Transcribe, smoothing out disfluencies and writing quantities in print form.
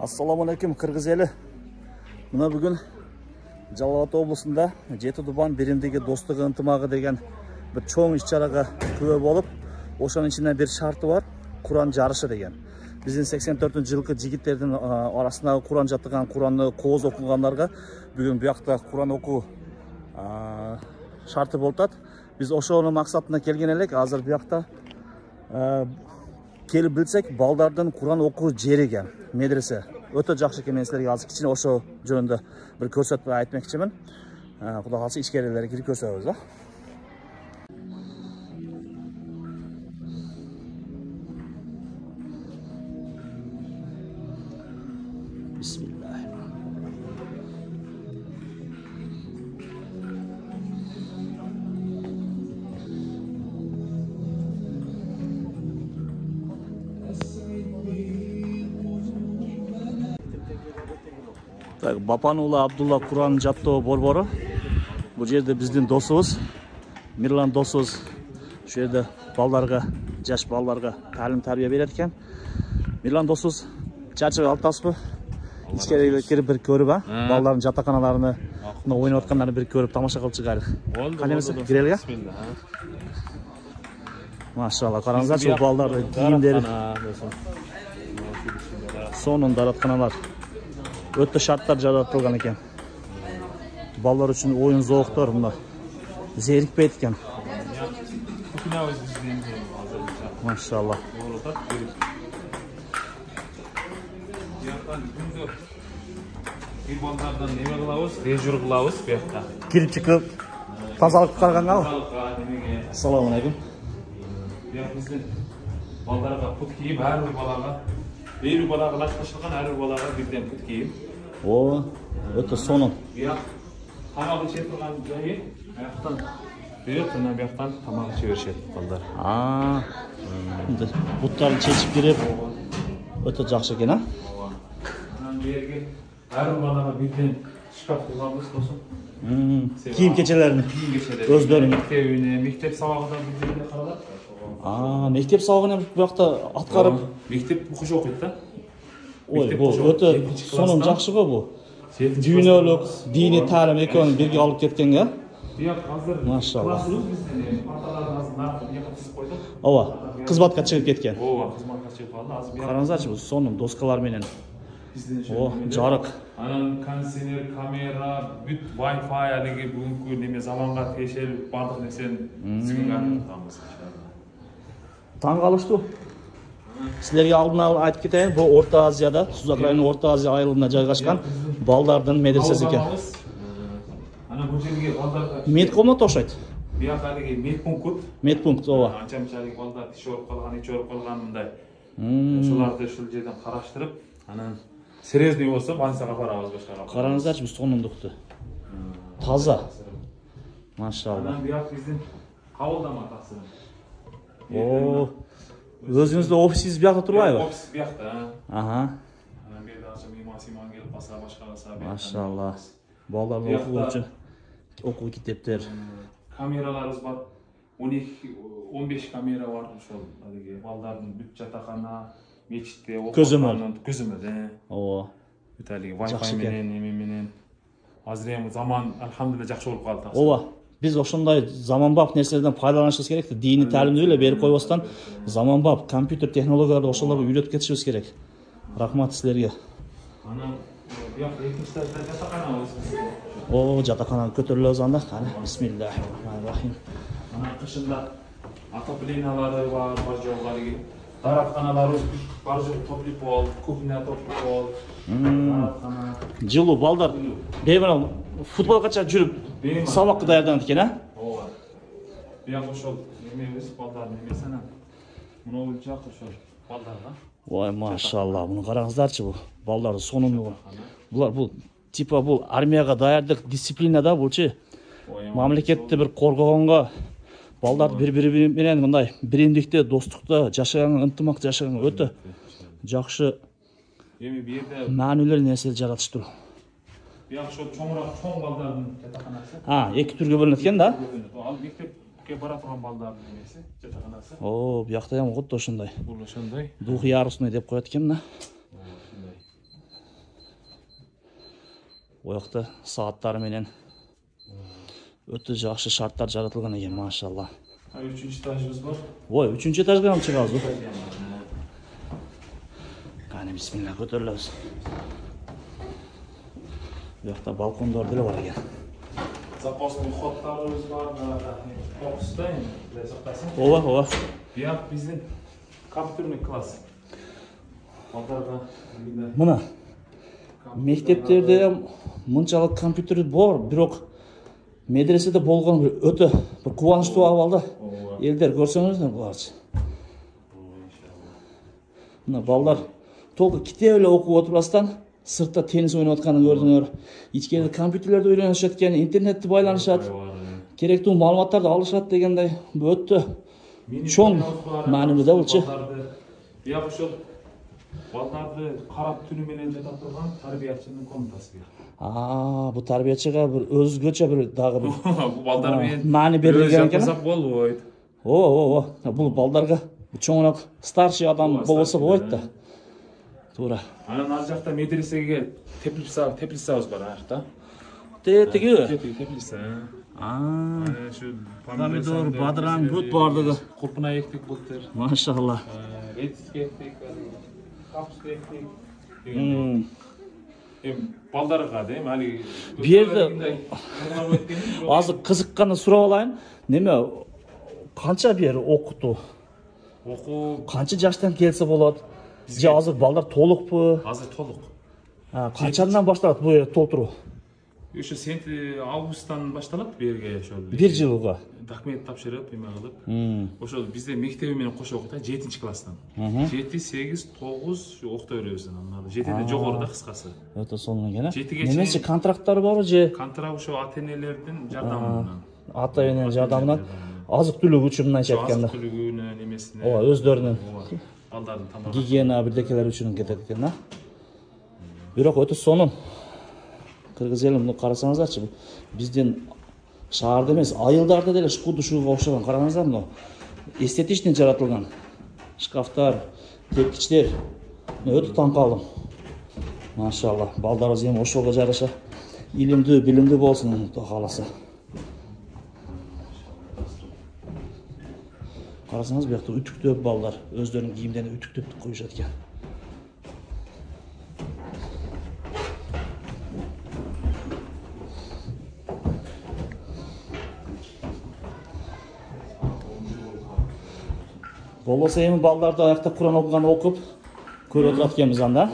Assalamu alaikum Kırgız eli. Mına bugün Жалал Абад облусунда Жети Дубан биримдиги достук ынтымагы деген bir чоң иш-чарага күбө болуп, ошонун ичинен bir шарты бар, Куран жарышы деген. Биздин 84-жылкы жигиттердин арасындагы Куран жаттаган, Куранды кооз окугандарга бүгүн буякта Куран окуу шарты болуп атат. Биз ошонун максатына келген элек. Азыр буякта келип билсек, балдардын Куран окуу жери экен, медресе. Өтө жакшы экен. Мен силерге азыр кичине ошо жөнүндө бир көрсөтмө айтмакчымын. Кудай калса ичкерилерге кирип көрсөтөбүз да. Так, Бапануулы Абдулла Куран жаттоо борбору. Бул жерде биздин досубуз, Мирлан досубуз ушул жерде балдарга, жаш балдарга таалим-тарбия берет экен. Мирлан досубуз чачып алтасызбы? Ичкерилерге кирип бир көрүп, балдардын жатаканаларыны, ойноп аткандарын бир көрүп тамаша кылып чыгайлык. Кане эмес, кирелиге? Машалла, караңыздарчы, бул балдардын кийимдери. Сонун даратканалар. Өтө шарттар жаратылган экен. Балдар үчүн оюн зооктор мына зерикпейт экен. Машалла. Бир балдардан неме кылабыз, режур кылабыз буякта. Кирип чыгып тазалык караганга. Ассаламу алейкум. Буяк биздин балдарга пут кийим, ар бир балага лашташылган, ар бир балага бирден пут кийим. О, өтө сонун. Буяк тамак иче турган жайы, аяктан берет, анан буяктан тамак иче беришет балдар. Буттарын чечип кирип, өтө жакшы экен, Анан берги ар бир балага бирден шкаф кылабыз, досум. Кийим кечелерин өздөрүнүн мектебине, мектеп сабагында бир жерде каралат. Мектеп сабагын буякта аткарып, мектеп окушу окуйт да. Ой, бул өтө сонун жакшы го бул. Дүйнөлүк, дини таалим экөөнү бирге алып кеткенге. Буяк азыр Машалла. Порталардын азыр буяка тизип койдук. Ооба, кызматка чыгып кеткен. Ооба, кызматка чыгып калды. Азыр буяк. Караңыздарчы, бул сонун доскалар менен. Жарык. Анан кондиционер, камера, бүт Wi-Fi алиги бүгүнкү неме заманга тиешелүү бардык нерсени тизилген атабыз. Таң калыштуу. Силерге алдын ала айтып кетейин, бул Орто Азияда, Сузак районунун Орто Азия айылында жайгашкан балдардын медресеси экен. Анан бул жерге балдарга медкомната окшойт. Буяк алиги медпункт. Медпункт, ооба. Анча-мынчалык балдар тиш ооруп калган, ич ооруп калган мындай. Ошоларды ушул жерден караштырып, анан серьезный болсо больницага барабыз, башкага. Караңыздарчы, бул сонундукту. Таза. Машалла. Анан буяк биздин кабылдама тасырым. Өзүңүздүн офисиңиз буякта турбайбы? Офис буякта. Анан берде азыр мейман келип калса, башка калса. Машалла. Балдардын окуу үчүн окуу китептер. Камераларыбыз бар. 12-15 камера бар ошол алиги балдардын бүт жатакана, мечитте көзөмөл. Көзөмөл, Ооба. Бүт алиги Wi-Fi менен, эме менен. Азыр эми заман алхамдулилла жакшы болуп калды. Ооба. Биз ошондой заманбап нерселерден пайдаланышыбыз керек. Дини таалимди эле берип койбостон, заманбап компьютер технологияларды ошолорго үйрөтүп кетишибиз керек. Рахмат силерге. Анан буяк экинчи жатаканабыз. Жатакананы көтөрүлөбүз анда. Кана, бисмиллахиррахманиррахим. Анан кышында отоплениялары бар, жок алиги. Даратканаларыбыз бар жок топлип бол, кухня топлип бол. Жылуу балдар беймарал футболкача жүрүп сабакка даярданат экен, Ооба. Буяк ошол эмебиз, балдардын эмеси анан. Мына жак ошол балдарга. Ой, машалла, муну караңыздарчы, бул балдардын сонундугу. Бул типа бул армияга даярдык дисциплина да булчу. Мамлекетти бир коргогонго, балдар бири-бири менен мындай биримдикте, достукта жашаганга, ынтымак жашаганга өтө жакшы эми бу жерде маанилүү нерселер жаратыштыр. Буяк ошо чоң балдардын жатаканасы. Эки түргө бөлүнөт экен да? Ал мектепке бара турган балдардын эмеси, жатаканасы. Буякта эми кодто ошондой. Бул ошондой. Дух ярусный деп коет экен мына. Оякта сааттары менен өтө жакшы шарттар жаратылган экен, машалла. 3-чү этажыбыз бар. Ой, 3-чү этажга чыгабыз. Кане бисмилла көтөрүлөбүз. Буякта балкондор деле бар экен. Запасный ходтарыбыз бар, кокуста эми, Кудай сактасын. Ооба. Бияк биздин компьютерный класс. Балдарга мына мектептерде мынчалык компьютер бар, бирок медреседе болгон бир өтө бир кубанычтуу абал да. Элдер көрсөңүздөр буларчы. Мына балдар толку китеп эле окуп отурбастан сыртта теннис ойноп атканын көрдүңөр. Ичкерide компьютерлерди үйрөнүшөт экен, интернетти байланышат, керектүү маалыматтарды алышат дегендей өтө чоң маанилүү да булчу. Бияк ошол балдарды карап түнү менен жата турган тарбиячынын комнатасы бияк. Бу тарбиячыга бир өзгөчө бир дагы бир бул балдар менен маани берилген экен. Болбойт. Бул балдарга чоңураак старший адам болбосо болбойт да. Туура. Анан ар жакта медресеге теплицабыз бар аякта. Тетиги. Теплица. Шу помидор, бадыран, бүт бардыгы. Курпуна эктик былтыр. Машалла. Редиске эктик, капуста эктик. Балдарга да эми али бу жерде азыр кызыкканын сурап алайын. Неме канча бери окутуу? Канча жаштан келсе болот? Же азыр балдар толукпу? Азыр толук. Канчадан башталат бу толтуруу? Ошо августтан башталат берге ошол. Бир жылга. Документ тапшырып, эме кылып. Ошол бизде мектеби менен кошо окута 7-класстан. 7, 8, 9 окута беребиз анан. 7де жогоруда кыскасы. Өтө сонун экен. Немесе контракттары барбы же? Контракт ошо ата-энелердин жардамынан. Ата-эненин жардамынан азык-түлүк үчүн мындайча айтканда. Азык-түлүгүнө немесине. Өздөрүнүн балдардын тамагы. Гигиена бирдекелери үчүн кетет экен, Бирок өтө сонун. Кыргыз элин муну карасаңыздарчы, биздин шаарда эмес, айылдарда деле шкудушууга окшогон. Караңыздар, мына эстетичный жаратылган шкафтар, тепкичтер. Өтө таң калдым. Машалла, балдарыбыз эми ошого жараша илимдүү, билимдүү болсун, Кудай кааласа. Карасаңыз, буякта үтүктөп балдар өздөрүнүн кийимдерин үтүктөп коюшат экен. Болбосо эми балдарды аякта Куран окуган окуп көрүп отурат экенбиз анда.